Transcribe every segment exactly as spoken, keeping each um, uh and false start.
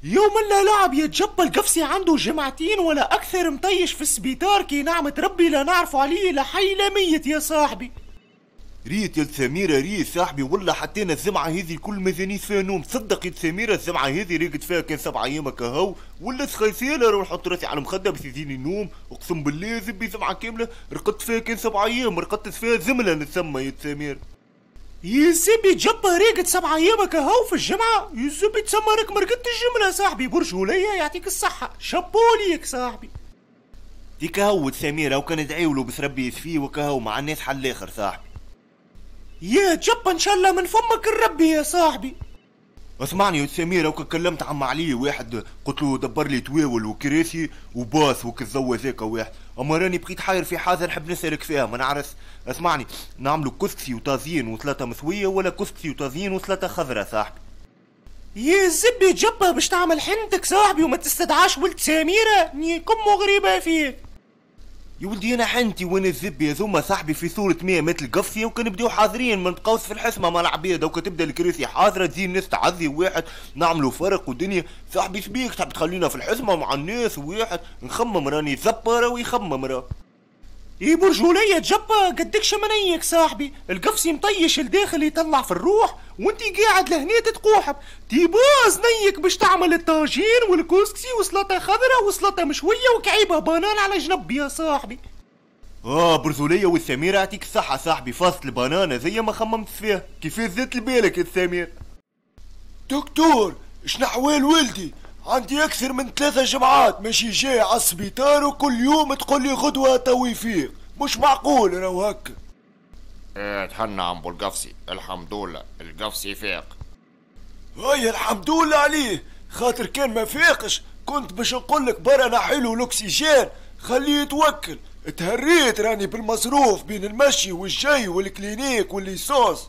يوم لا لعب يا جبا، القفصي عنده جمعتين ولا اكثر مطيش في السبيطار، كي نعمة ربي لا نعرفوا عليه لا حي لا ميت يا صاحبي. ريت يا سميرة ريت صاحبي، والله حتى الزمعة هذه كل مازانيش فيها نوم. صدق يا سميرة الزمعة هذه رقد فيها كان سبعة ايام كهو، ولا سخيسيلة روح نحط راسي على المخدة باش يزيني النوم. اقسم بالله زبي زمعة كاملة رقدت فيها كان سبعة ايام، رقدت فيها زملة نتسمى يا سمير. يا زبي جبا راقد سبعة ايام كهو في الجمعة، يا زبي تسمى راك ما رقدتش الجملة صاحبي. برجولية يعطيك الصحة، شابو ليك صاحبي. ديك هو سميرة وكان دعيولو بس ربي يشفيه وكهو مع الناس حل الاخر صاحبي. يا جبا ان شاء الله من فمك الربي يا صاحبي. اسمعني يا سميرة، وكان كلمت عم علي واحد قلت له دبر لي تواول وكراسي وباص وكالزو هذاك واحد، اما راني بقيت حاير في حاجة نحب نسالك فيها ما نعرف. اسمعني، نعملوا كسكسي وطازين وثلاثة مسويه ولا كسكسي وطازين وثلاثة خضرة صاحبي؟ يا زبي جبا باش تعمل حنتك صاحبي وما تستدعاش ولد سميرة، نيكم غريبة فيك. يا ولدي انا حنتي وانا الزبي هذوما صاحبي في صورة مية متر القفصية، وكان نبداو حاضرين ما نبقاوش في الحسمة مع العباد، وكان تبدا الكراسي حاضرة تجي الناس تعزي واحد نعملوا فرق ودنيا صاحبي. شبيك تحب تخلينا في الحسمة مع الناس واحد نخمم راني زبرة ويخمم راه. اي برجولية جبا قدكش منيك صاحبي، القفصي مطيش الداخل يطلع في الروح وانتي قاعد لهنا تتقوحب. تيباز نيك باش تعمل الطاجين والكسكسي وسلطة خضراء وسلطة مشوية وكعيبة بنان على جنب يا صاحبي. اه برجولية والسميرة يعطيك الصحة صاحبي، فاصل البنانة زي ما خممت فيها، كيفاش زدت لبالك يا سمير؟ دكتور شنحوال ولدي؟ عندي أكثر من ثلاثة جمعات ماشي جاي على السبيطار وكل يوم تقول لي غدوة تو يفيق، مش معقول راهو هكا. ايه تهنى عم القفصي، الحمد لله القفصي فاق. هيا الحمد لله عليه، خاطر كان ما فاقش كنت باش نقول لك برا نحيلو الاكسجين خليه يتوكل. تهريت راني بالمصروف بين المشي والجاي وال clinique وال essence.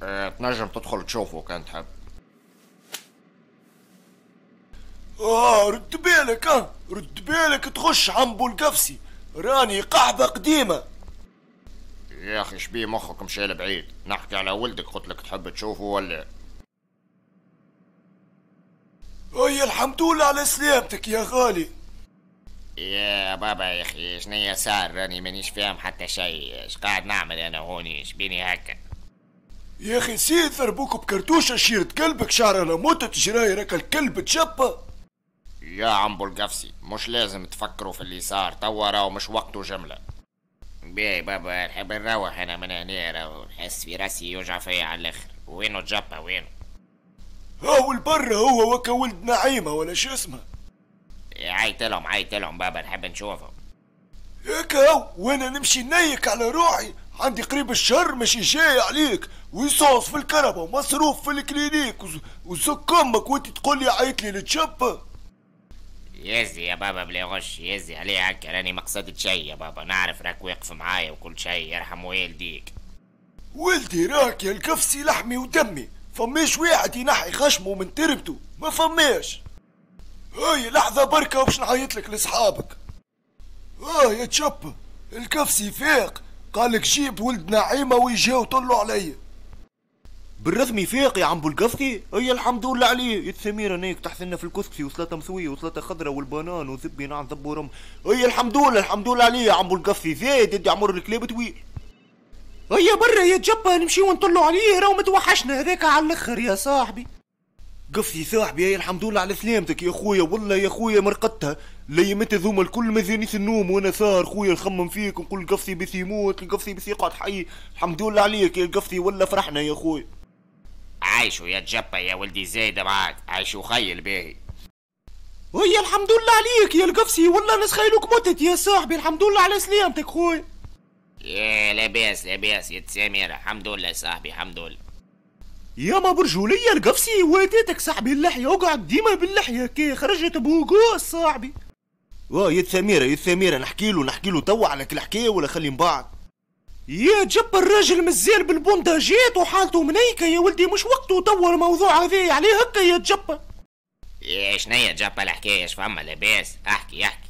ايه تنجم تدخل تشوفه كان تحب. اه رد بالك، اه رد بالك تخش عمبو القفصي، راني قحبة قديمة. يا اخي شبيه مخك مشى لبعيد، نحكي على ولدك قلت لك تحب تشوفه ولا؟ هيا الحمد لله على سلامتك يا غالي. يا بابا يا اخي شنيا صار؟ راني مانيش فاهم حتى شيء، اش قاعد نعمل انا هوني؟ شبيني هكا؟ يا اخي نسيت ضربوك بكرتوشة شيرة كلبك شعره لموتة جراي راك الكلب تشبه. يا عمبو القفصي مش لازم تفكروا في اللي صار توا، راهو مش وقته جملة. باهي بابا نحب نروح انا من هنا، راهو نحس في راسي يوجع فيا على الاخر. وينو جبا وينو؟ هاو البر هو وكا ولد نعيمة ولا شو اسمه. عيط لهم عيط لهم بابا نحب نشوفهم. هيك هاو وانا نمشي نيك على روحي، عندي قريب الشهر ماشي جاي عليك، و essence في الكهرباء ومصروف في ال clinique وزك امك وانت تقول لي عيط لي لتشبه. يزي يا بابا بلا غش، يزي عليه هكا، راني ما قصدت شي يا بابا، نعرف راك واقف معايا وكل شي، يرحم والديك. ولدي راك يا القفصي لحمي ودمي، فماش واحد ينحي خشمه من تربته، ما فماش. هاي لحظة بركة باش نعيط لك لصحابك. اه يا تشب القفصي فاق، قالك جيب ولد نعيمة ويجاو طلوا عليا. بالرسمي فاق يا عمبو القفصي؟ هيا الحمد لله عليه. يا سميرة نيك تحسنا في الكسكسي وسلطة مسوية وسلطة خضراء والبنان وزبي نعم زب ورم. هيا الحمد لله الحمد لله عليه يا عمبو القفصي، زايد يدي عمر الكلاب طويل. هيا برا يا جبا نمشيو ونطلوا عليه، راهو متوحشنا هذاك على الاخر يا صاحبي. قفصي صاحبي هيا الحمد لله على سلامتك يا خويا، والله يا خويا مرقدتها ليمت ذوما الكل مازالنيش النوم وانا ساهر خويا نخمم فيك ونقول القفصي بس يموت القفصي بس يقعد حي. الحمد لله عليك يا القفصي ولا فرحنا يا خويا. عايشوا يا جبا يا ولدي زايدة معاك، عايشوا خيل باهي. هيا الحمد لله عليك يا القفصي، والله نسخيلوك متت يا صاحبي، الحمد لله على سلامتك خويا. يا لاباس لاباس يا سميرة، الحمد لله صاحبي الحمد لله. يا ما برجولية القفصي واديتك صاحبي اللحية، اقعد ديما باللحية كي خرجت بوقوس صاحبي. واه يا سميرة يا سميرة نحكي له نحكي له توا على كل حكاية ولا خلي من بعد؟ يا جب الراجل مازال بالبونداجات وحالته منيكة يا ولدي، مش وقته توا الموضوع هذا عليه هكا يا جبا. يا شنيا جبا الحكاية؟ اش فما لاباس؟ احكي احكي.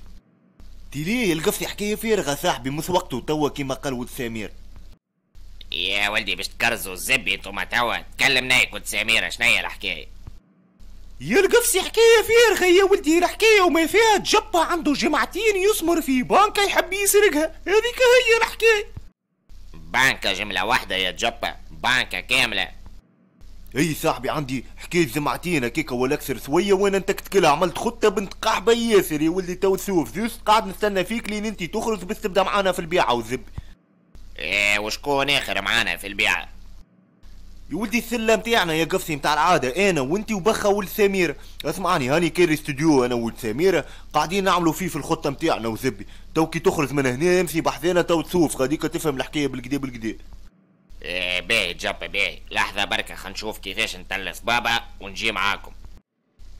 تي ليه القفصي حكاية فارغة صاحبي، مش وقته توا كيما قال ولد سمير. يا ولدي باش تكرزوا الزبي انتوما توا، تكلم نايك ولد سميرة شنيا الحكاية؟ يا القفصي حكاية فارغة يا ولدي، الحكاية وما فيها جبه عنده جمعتين يسمر في بانكا يحب يسرقها، هذيك هي الحكاية. بانكا جملة واحدة يا جبه، بانكا كاملة. اي صاحبي عندي حكاية جمعتين هكاكا ولا اكثر شوية وانا نتكتكلها، عملت خطه بنت قحبه ياسر يا ولدي. تو تشوف juste قاعد نستنى فيك لين انت تخرج باش تبدا معانا في البيعة والزب. ايه وشكون اخر معانا في البيعة؟ يا ولدي السلة نتاعنا يا قفصي نتاع العادة، انا وانت وبخه ولد سميرة. اسمعني هاني كاري استوديو انا ولد سميرة قاعدين نعملوا فيه في الخطة نتاعنا وزبي. تو كي تخرج من هنا امشي بحذانا تو تشوف غاديك تفهم الحكاية بالكدا بالكدا. ايه باهي جاب باهي، لحظة بركة خنشوف كيفاش نتلف بابا ونجي معاكم.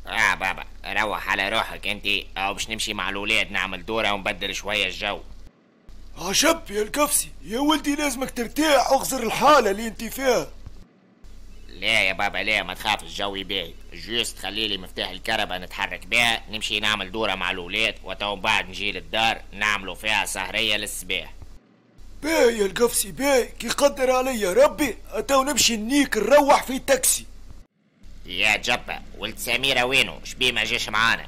اه بابا روح على روحك انت، او باش نمشي مع الولاد نعمل دورة ونبدل شوية الجو. عجب يا القفصي يا ولدي، لازمك ترتاح واغزر الحالة اللي انت فيها. لا يا بابا لا ما تخافش الجو باهي، juste خليلي مفتاح الكهرباء نتحرك بها نمشي نعمل دورة مع الولاد وتو بعد نجي للدار نعملوا فيها سهرية للصباح. باهي يا القفصي باهي، كي قدر عليا ربي اتو نمشي نيك نروح في تاكسي. يا جبة ولد سميرة وينو؟ شبيه ما جاش معانا؟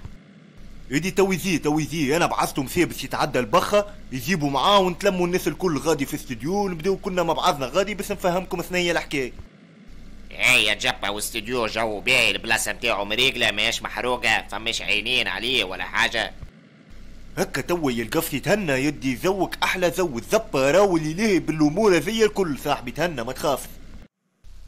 يدي تو يزي تو يزي، انا بعثته مسيه باش يتعدى البخة يجيبوا معاه ونتلموا الناس الكل غادي في استوديو ونبداو كلنا مع بعضنا غادي باش نفهمكم ثنية الحكاية. اي يا جبة واستوديو جو باهي، البلاصة نتاعو مريقلة ماهيش محروقة، فماش عينين عليه ولا حاجة. هكا توا يا القفصي تهنى يدي ذوك احلى ذو الذبة راهو اللي ليه بالامور هذيا الكل صاحبي، تهنى ما تخاف.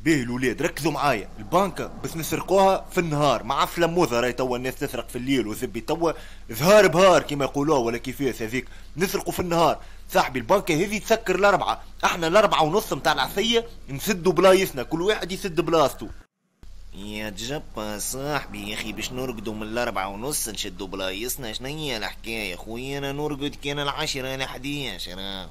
باهي الولاد ركزوا معايا، البنكة بس نسرقوها في النهار مع فلموذة، راهي توا الناس تسرق في الليل وزبي توا ظهار بهار كيما يقولوها ولا كيفاش هذيك، نسرقوا في النهار صاحبي. البنكة هذه تسكر الأربعة، احنا الأربعة ونص متاع العشية نسدوا بلايصنا، كل واحد يسد بلاصتو. يا جبا صاحبي يا اخي باش نرقدوا من الأربعة ونص نشدوا بلايصنا، شنيا الحكاية خويا؟ انا نرقد كان العشرة الحديش انا.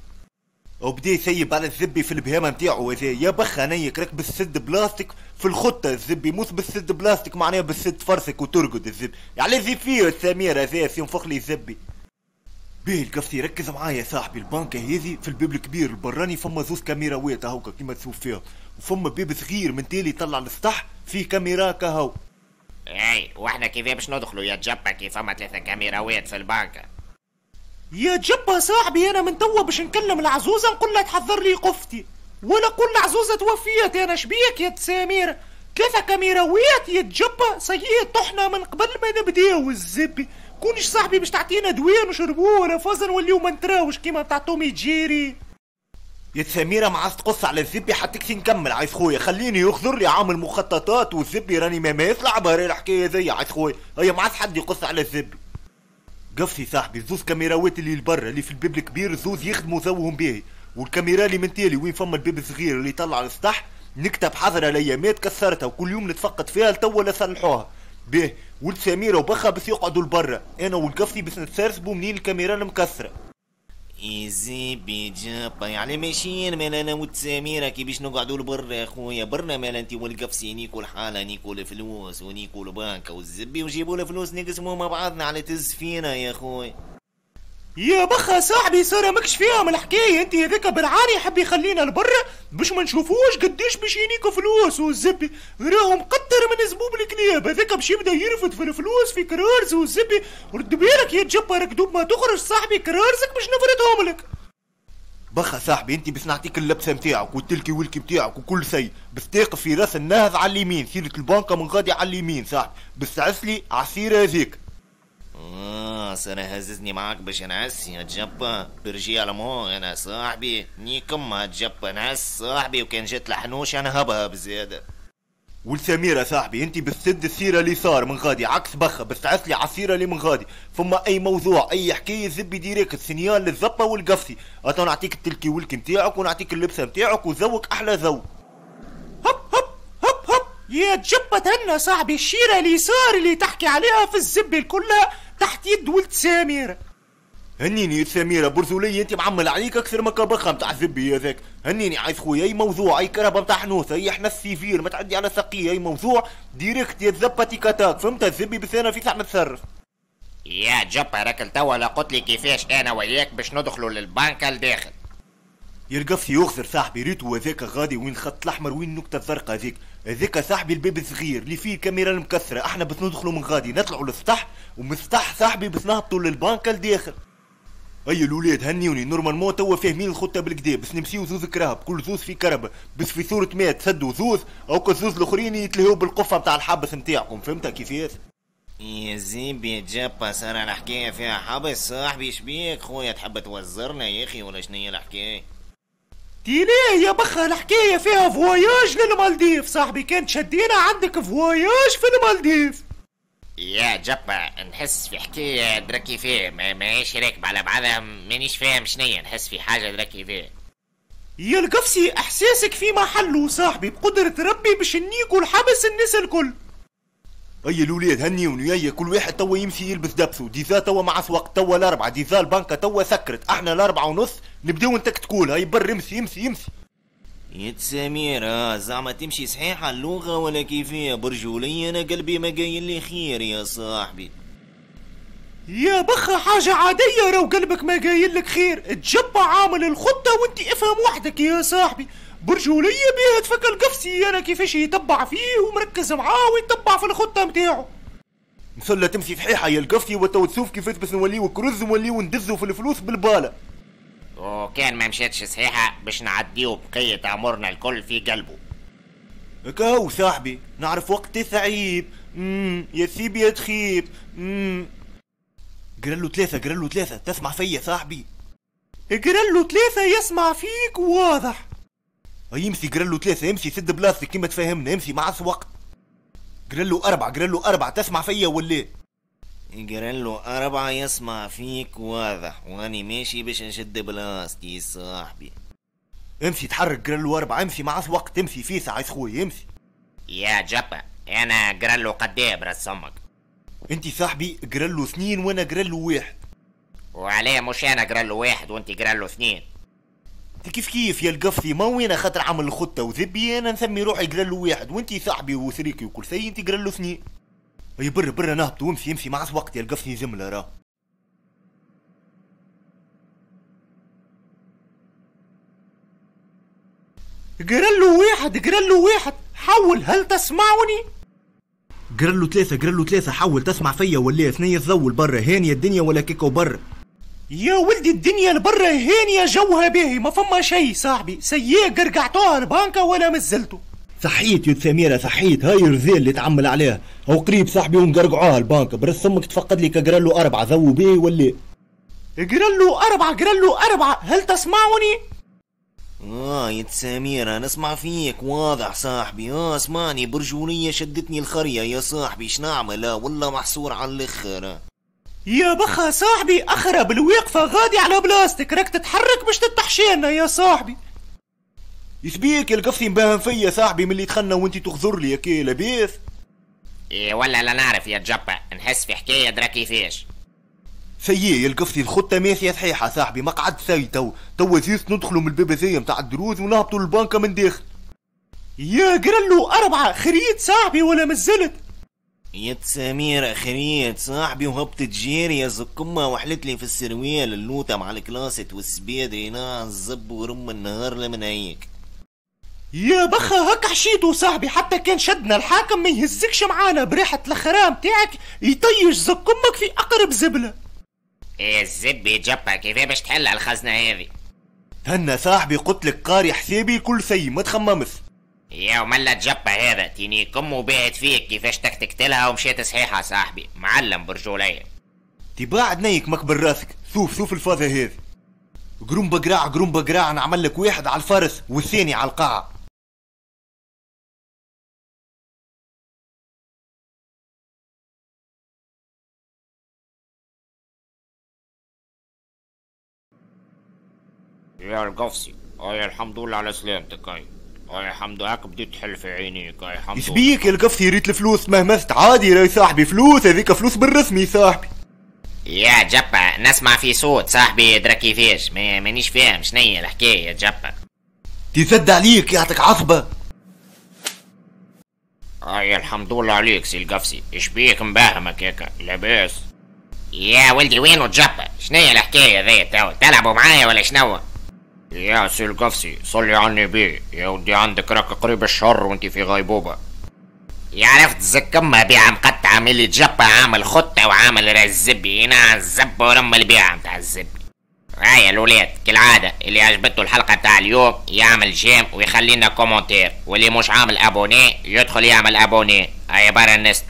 وبدا يسيب على الزبي في البهامه نتاعو هذا يا بخ نيك راك بالسد بلاستيك في الخطة، الزبي موس بالسد بلاستيك معناها بالسد فرسك وترقد الزبي، يعني زي فيه السمير هذا ينفخ لي الزبي. باهي القفصي ركز معايا صاحبي، البنكه هذه في الباب الكبير البراني فما زوز كاميراوات هاكا كيما تشوف فيها، وفما باب صغير من تالي يطلع للسطح فيه كاميرا كهو. اي واحنا كيف باش ندخلوا يا جبا كيف فما ثلاثة كاميراوات في البنكه؟ يا جبا صاحبي انا من توا باش نكلم العزوزه نقول لها تحضر لي قفتي، ولا قول العزوزه توفيت انا شبيك يا سميرة؟ ثلاثة كاميراوات يا جبا صحيح طحنا من قبل ما نبداو الزبي. كونش صاحبي باش تعطينا دواء نشربوه ولا فازا نوليو ما نتراوش كيما تاع تومي جيري. يا سميرة ما عادش تقص على الزبي حتى كي نكمل عايز خويا، خليني يخزر لي عامل مخططات والزبي راني ما يطلع بها الحكاية ذي عايز خويا، هي ما عادش حد يقص على الزبي. قفصي صاحبي زوز كاميراوات اللي لبرا اللي في الباب الكبير زوز يخدموا ذوهم باهي، والكاميرا اللي من تالي وين فما الباب الصغير اللي يطلع للسطح نكتب حضره الايامات كسرتها وكل يوم نتفقد فيها لتوا لا صلحوها. باهي ولد سميرة وبخا بس يقعدوا لبرا، انا والقفصي بس نتسرسبوا منين الكاميرا المكسره. يزيبي جابا يعني ماشيين مال انا وتساميرة كي باش نقعدوا لبرا يا خويا، برنا مال انت والقفصي نيكو الحالة نيكو الفلوس ونيكو البنكة والزبي وجيبوا الفلوس نقسموا مع بعضنا على تز فينا يا خويا. يا بخا صاحبي صار ماكش فيهم الحكاية انت، هذاك بالعاني يحب يخلينا لبرا باش ما نشوفوش قداش باش ينيكو فلوس والزبي، راهو مقدر من زبوب الكلاب هذاك باش يبدا يرفد في الفلوس في كرارز والزبي. رد بالك يا جبا راك دوب ما تخرج صاحبي كرارزك باش نفردهم لك. بخا صاحبي انت باش نعطيك اللبسه نتاعك والتلكي والكي نتاعك وكل شيء، بس تاقف في راس النهض على اليمين، سيره البنكه من غادي على اليمين صاحبي، بس تعسلي عصيره هذيك. اه سنة هززني معاك باش نعس يا جبا برجي على مو انا صاحبي نيكم ما جبا نعس صاحبي، وكان جات الحنوش انا هبها بزيادة. والسميرة صاحبي انت بتسد السيرة اللي صار من غادي عكس بخة، بس تعسلي عصيرة اللي من غادي، فما اي موضوع اي حكاية زبي direct signal للزبة والقفصي، اتو نعطيك التلكي والكي نتاعك ونعطيك اللبسة نتاعك وذوق احلى ذوق. هب هب هب هب يا جبة تهنى صاحبي، الشيرة اليسار اللي تحكي عليها في الزبي كلها تحت يد ولد سميرة. هنيني يا سميرة برزولية انت معمل عليك اكثر ما كبخة نتاع الزبي هذاك، هنيني عايز خويا اي موضوع اي كرهبة نتاع حنوسة اي حنا السيفير ما تعدي على سقية اي موضوع direct يا زبة تيكاتاك فهمت الزبي، بس انا في ساعة نتصرف. يا جبا راك توا لا قلت لي كيفاش انا وياك باش ندخلوا للبنكة لداخل. يا القفصي يخزر صاحبي ريتو هذاك غادي وين الخط الاحمر وين النكتة الزرقاء هذيك، هذاك صاحبي الباب الصغير اللي فيه الكاميرا المكسره، احنا بس ندخلوا من غادي نطلعوا للسطح، ومن السطح صاحبي بس نهبطوا للبنكه لداخل. هيا الاولاد هنيوني، normalement توا فاهمين الخطة بالكدا، بس نمشيو زوز كراهب، كل زوز في كربه، بس في صوره ما تسدوا زوز، او كل زوز الاخرين يتلهوا بالقفه نتاع الحبس نتاعكم، فهمتها كيفاش؟ يا زيبي جابا صار الحكاية فيها حبس صاحبي، شبيك خويا تحب توزرنا يا اخي ولا شنيا الحكاية؟ تي ليه يا بخا الحكاية فيها voyage للمالديف صاحبي، كان تشدينا عندك voyage في المالديف. يا جبا نحس في حكاية درا كيفاه، ما ماهيش راكبه على بعضها، مانيش فاهم شنيا، نحس في حاجة درا كيفاه. يا القفصي احساسك في محله صاحبي، بقدرة ربي باش نيكو الحبس الناس الكل. هيا الاولاد هنيوني، هيا كل واحد توا يمشي يلبس دبسو، déjà توا مع وقت توا الاربعة، déjà البنكه توا سكرت، احنا الاربعة ونص نبداو نتكتكول. هيا بر امشي امشي امشي. يا سميرة زعما تمشي صحيحة اللغة ولا كيفية؟ برجولية انا قلبي ما قايل لي خير يا صاحبي. يا بخا حاجة عادية راو قلبك ما قايل لك خير، تجبع عامل الخطة وانت افهم وحدك يا صاحبي. برجولية بيها تفك القفصي انا كيفاش يتبع فيه ومركز معاه ويتبع في الخطة متاعو. نسلة تمشي صحيحة يا القفصي، وتو تشوف كيفاش باش نوليو كرز ونوليو ندزو في الفلوس بالبالة. وكان ما مشاتش صحيحة باش نعديو بقية عمرنا الكل في قلبه. كاو صاحبي نعرف وقت صعيب، امم يا سيب يا تخيب. امم قرلو ثلاثة، قرلو ثلاثة، تسمع فيا صاحبي؟ قرلو ثلاثة يسمع فيك واضح. يمشي قرلو ثلاثة، امشي سد بلاصتك كيما تفاهمنا، امشي مع وقت. قرلو أربعة، قرلو أربعة، تسمع فيا ولا؟ قرلو أربعة يسمع فيك واضح، وأني ماشي باش نشد بلاصتي صاحبي. امشي تحرك، قرلو أربعة، امشي مع وقت، امشي فيسع عايز خويا امشي. يا جبا أنا قرلو قداه براس أمك؟ انت صاحبي قرلو اثنين وانا قرلو واحد. وعليه مش انا قرلو واحد وانت قرلو اثنين؟ انت كيف كيف يا القفصي، ما وين خاطر عامل الخطة وذبي انا نسمي روحي قرلو واحد، وانت صاحبي وشريكي وكل شيء انت قرلو اثنين. هيا برا برا نهبطوا، وامشي امشي مع وقت يا القفصي جملة راه. قرلو واحد، قرلو واحد، حول هل تسمعني؟ قرلو ثلاثة، قرلو ثلاثة، حول تسمع فيا ولا؟ ثنية تضول برا هانية الدنيا ولا كيكو برا؟ يا ولدي الدنيا البرا هانية جوها باهي، ما فما شي صاحبي، سياق قرقعتوها البنكة ولا مزلتو. صحيت يا سميرة صحيت، هاي الرزال اللي تعمل عليها، هو قريب صاحبي ونقرقعوها البنكة، برس امك تفقد لي كقرلو أربعة ذو باهي ولا؟ قرلو أربعة، قرلو أربعة، هل تسمعني؟ اه يا سميرة نسمع فيك واضح صاحبي. اه اسمعني برجولية شدتني الخرية يا صاحبي، شنعمل؟ آه والله محصور على الاخر. يا بخا صاحبي اخرب الواقفة غادي على بلاصتك، راك تتحرك باش تتحشينا يا صاحبي. يسبيك يا القفصي مباهم فيا صاحبي من اللي دخلنا وانت تغزر لي يا كي لاباس؟ إيه ولا لا نعرف يا جبا، نحس في حكاية درا كيفاش. سيي يا القفصي الخطة ماشية صحيحة صاحبي، ما قعدت سي تو تو juste ندخلوا من الباب هذايا نتاع الدروز ونهبطوا للبنكة من داخل. يا قرلو أربعة، خريت صاحبي ولا مزلت؟ يا سميرة خريت صاحبي وهبطت جيري يا زكمة وحلت لي في السروال اللوطة مع الكلاسة والسبيدي الزب ورم النهار لمن هيك. يا بخا هك حشيتو صاحبي، حتى كان شدنا الحاكم ما يهزكش معانا بريحة الخرام تاعك يطيش زكمك في أقرب زبلة. ايه الزبي جبا كيف باش تحل الخزنة هذه؟ تهنى صاحبي قلت لك قاري حسابي كل شيء ما تخممش. يا وملا جبا هذا تينيكم وباهت فيك كيفاش تكتكتلها ومشيت صحيحة صاحبي، معلم برجولية. تباعد نيك مكبر راسك، شوف شوف الفازة هذه. قرون بقراع قرون بقراع، نعمل لك واحد على الفرس والثاني على القاعة. يا القفصي اي الحمد لله على سلامتك، اي اي الحمد لله هاك بديت تحل في عينيك، اي الحمد لله. يسبيك يا القفصي ريت الفلوس مهمست عادي يا صاحبي، فلوس هذيك فلوس بالرسمي صاحبي. يا جبا نسمع في صوت صاحبي درا كيفاش، مانيش فاهم شنيا الحكاية يا جبا. تسد عليك يعطيك عصبة. اي الحمد لله عليك سي القفصي، اشبيك مبهمك هيك لاباس؟ يا ولدي وينو جبا؟ شنيا الحكاية ذي تو تلعبوا معايا ولا شنو؟ يا سي القفصي صلي على النبي يا ودي، عندك راك قريب الشهر وانت في غيبوبة. يا عرفت زكمة بيعة مقطعة من اللي تجبى، عامل خطة وعامل راس الزبي، هنا الزب ورم البيعة متاع الزبي. هيا الولاد كالعادة اللي عجبته الحلقة تاع اليوم يعمل j'aime ويخلينا commentaire، واللي مش عامل abonné يدخل يعمل abonné. هيا برا الناس.